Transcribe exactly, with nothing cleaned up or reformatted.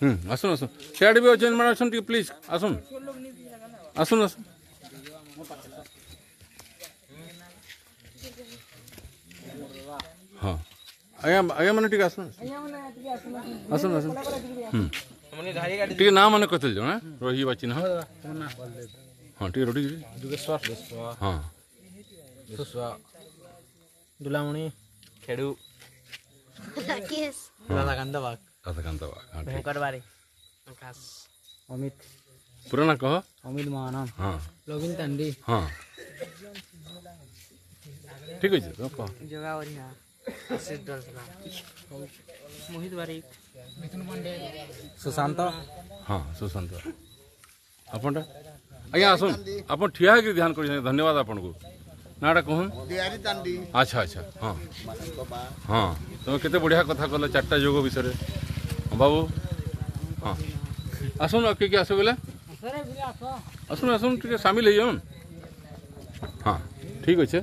ହୁଁ, ଆସୁନ୍ ଆସୁନ୍, ସିଆଡ଼େ ବି ଅଛନ୍ ମାନେ, ଅଛନ୍, ଟିକେ ପ୍ଲିଜ୍ ଆସୁନ୍ ଆସୁନ୍ ଆସୁନ୍। ହଁ ଆଜ୍ଞା, ଆଜ୍ଞା ମାନେ ଟିକେ ଆସୁନ୍ ଆସୁନ୍ ଆସୁନ୍। ହୁଁ, ଟିକେ ନାଁ ମାନେ କହିଥିଲେ ଜଣେ ରହିଯିବା ଚିହ୍ନ। ହଁ, ଟିକେ ରଡ଼ି। ହଁ, ଦୁଲାମଣି ଖେଡୁ, ରାଧାକାନ୍ତ ବାଗ। ରାଧାକାନ୍ତ ବାଗ। ଭୟଙ୍କର ବାରି, ଆକାଶ, ଅମିତ। ପୁରା ନା କହ। ଅମିତ ମହାନା। ହଁ, ନବୀନ ତାଣ୍ଡି। ହଁ, ଠିକ ଅଛି, ତ କହ। ଜଗା ବରିହା, ଆଶିଷ ଦଲସଲା, ମୋହିତ ବାରିକ, ମିଥୁନ ପାଣ୍ଡେ, ସୁଶାନ୍ତ। ହଁ, ସୁଶାନ୍ତ। ଆପଣଟା ଆଜ୍ଞା ଆସୁନ୍, ଆପଣ ଠିଆ ହେଇକି ଧ୍ୟାନ କରିଛନ୍ତି, ଧନ୍ୟବାଦ ଆପଣଙ୍କୁ। ନାଁଟା କହୁନ୍। ଆଚ୍ଛା ଆଚ୍ଛା, ହଁ ହଁ, ତମେ କେତେ ବଢ଼ିଆ କଥା କହିଲ ଚାରିଟା ଯୋଗ ବିଷୟରେ। ହଁ ବାବୁ, ହଁ ଆସୁନ୍। ଆଉ କିଏ କିଏ ଆସ ବୋଇଲେ ଆସୁନ୍ ଆସୁନ୍, ଟିକେ ସାମିଲ ହେଇଯାଉନ୍। ହଁ, ଠିକ୍ ଅଛେ।